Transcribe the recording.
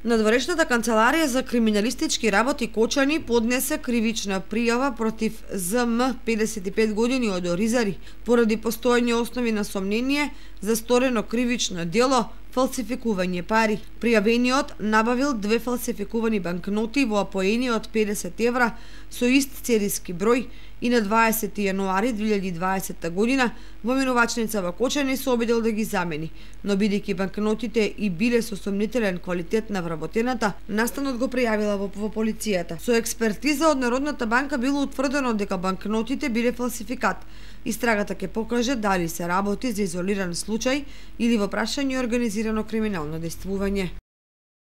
Надворешната канцеларија за криминалистички работи Кочани поднесе кривична пријава против ЗМ 55 години од Оризари поради постојани основи на сомнение за сторено кривично дело фалсификување пари. Пријавениот набавил 2 фалсификувани банкноти во апоени од 50 евра со ист сериски број и на 20 јануари 2020 година во минувачница во Кочани се обидел да ги замени, но бидејќи банкнотите и биле со сомнителен квалитет на вработената, настанот го пријавила во полицијата. Со експертиза од Народната банка било утврдено дека банкнотите биле фалсификат. Истрагата ќе покаже дали се работи за изолиран случај или во прашање организирано криминално дејствување.